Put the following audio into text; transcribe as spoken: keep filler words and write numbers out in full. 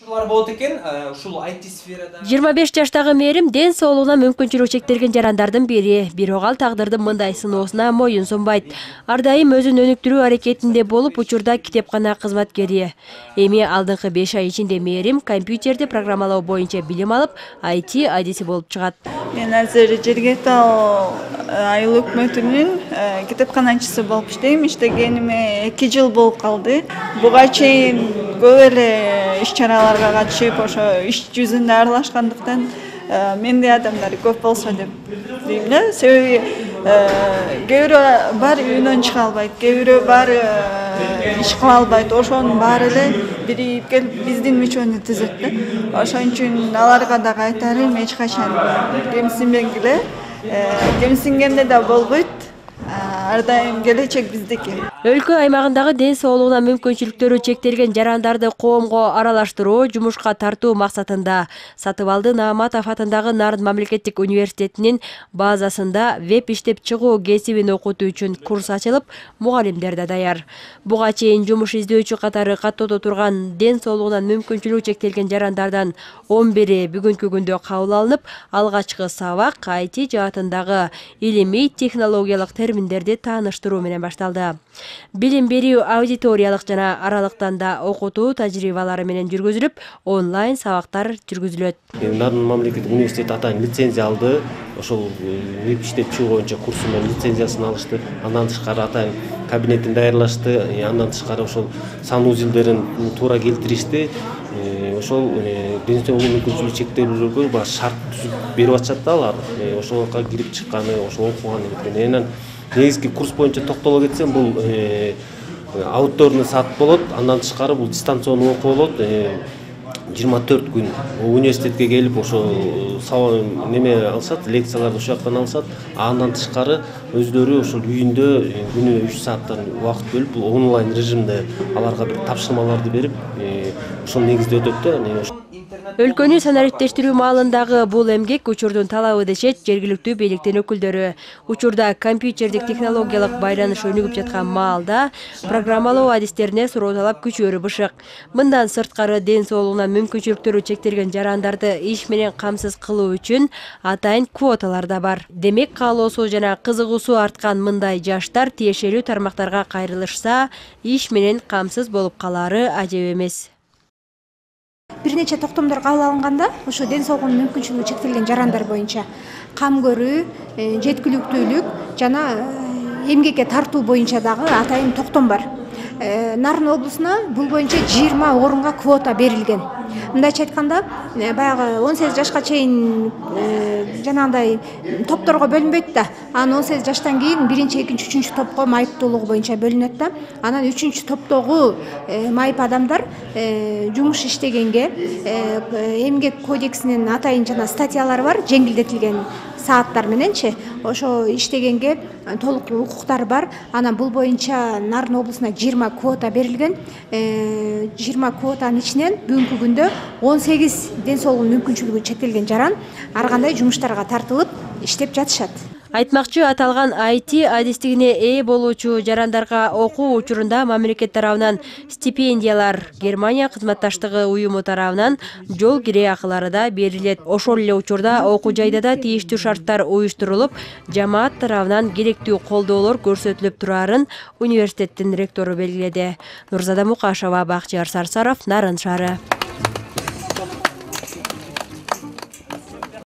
болот экен ушул ай ти сферада. жыйырма беш жаштагы мээрим ден соолугуна мүмкүнчүлүгү чектелген жарандардын бири. Бирок ал тагдырдын мындай сыноосуна моюн сунбайт. Ар дайым өзүн өнүктүрүү аракетинде болуп, учурда китепкана кызматкери. Эми алдыңкы беш ай ичинде мээрим компьютерди программалоо боюнча билим алып, ай ти адиси болуп чыгат. Мен азыр Жергиликтүү айыл өкмөтүнүн китепканачысы болуп иштейм. Иштегениме эки жыл болуп калды. Буга чейин көп эле иш-чараларга катышып, ошо иш жүзүндө аралашкандыктан мендей адамдар көп болсо деп дейм да. Себеби кээ бирөө бар үйүнөн чыга албайт, кээ бирөө бар иш кыла албайт. Ошонун баары эле бирип келип биздин мүчөнү түзөт да. Ошон үчүн аларга дагы айтарым, эч качан кемсинбегиле. Кемсингенде да болбойт. Ар дайым келечек биздики. Өлкө аймагындагы ден соолугуна мүмкүнчүлүктөрү чектелген жарандарды коомго аралаштыруу, жумушка тартуу максатында Сатыбалды Нааматов атындагы Нарын мамлекеттик университетинин базасында веб иштеп чыгуу кесибин окутуу үчүн курс ачылып, мугалимдер да даяр. Буга чейин жумуш издөөчү катары каттоодо турган ден соолугунан мүмкүнчүлүгү чектелген жарандардан он бири бүгүнкү күндө кабыл алынып, алгачкы сабак ай ти жаатындагы илимий технологиялык терминдерди тааныштыруу менен башталды. Билим берүү аудиториялык жана аралыктан да окутуу тажрыйбалары менен жүргүзүлүп, онлайн сабактар жүргүзүлөт. Нарын мамлекеттик университет атайын лицензия алды. Ошол веб иштеп чыгуу боюнча курсу менен лицензиясын алышты. Андан тышкары атайын кабинетин даярлашты. Андан тышкары ошол санузилдерин туура келтиришти. Ошол ден соолугу мүмкүнчүлүгү чектелүүлөргө баш шарт түзүп берип атышат да алар. Ошолго кирип чыкканы, ошол окуганы экен. Негизги курс боюнча токтоло кетсем, бул аутдорный саат болот. Андан тышкары бул дистанционный окуу болот. жыйырма төрт күн университетке келип ошо неме алышат, лекцияларды ошол жактан алышат. Андан тышкары өздөрү ошол үйүндө күнүнө үч сааттан убакыт бөлүп, онлайн режимде аларга бир тапшырмаларды берип, ошол негизде өтөт да. Өлкөнү санариптештирүү маалындагы бул эмгек учурдун талабы дешет жергиликтүү бийликтин өкүлдөрү. Учурда компьютердик технологиялык байланыш өнүгүп жаткан маалда программалоо адистерине суроо талап күчөөрү бышык. Мындан сырткары ден соолугунан мүмкүнчүлүктөрү чектелген жарандарды иш менен камсыз кылуу үчүн атайын квоталар да бар. Демек, каалоосу жана кызыгуусу арткан мындай жаштар тиешелүү тармактарга кайрылышса, иш менен камсыз болуп калаары ажеп эмес. Бир нече токтомдор кабыл алынганда, ошо ден соолугунун мүмкүнчүлүгү чектелген жарандар боюнча кам көрүү, жеткиликтүүлүк жана эмгекке тартуу боюнча дагы атайын токтом бар. Нарын облусуна бул боюнча жыйырма орунга квота берилген. Мындайча айтканда, баягы он сегиз жашка чейин жанагындай топторго бөлүнбөйт да. Анан он сегиз жаштан кийин биринчи, экинчи, үчүнчү топко майыптуулугу боюнча бөлүнөт да. Анан үчүнчү топтогу майып адамдар жумуш иштегенге эмгек кодексинин атайын жана статьялары бар, жеңилдетилген сааттар мененчи, ошо иштегенге толук укуктары бар. Анан бул боюнча Нарын облусуна жыйырма квота берилген. жыйырма квотанын ичинен бүгүнкү күндө он сегиз ден соолугунун мүмкүнчүлүгү чектелген жаран ар кандай жумуштарга тартылып иштеп жатышат. Айтмакчы, аталган ай ти адистигине ээ болуучу жарандарга окуу учурунда мамлекет тарабынан стипендиялар, Германия кызматташтыгы уюму тарабынан жол кире акылары да берилет. Ошол эле учурда окуу жайда да тийиштүү шарттар уюштурулуп, жамаат тарабынан керектүү колдоолор көрсөтүлүп турарын университеттин ректору белгиледи. Нурзада Мукашева, Бакчыяр Сарсаров, Нарын шаары.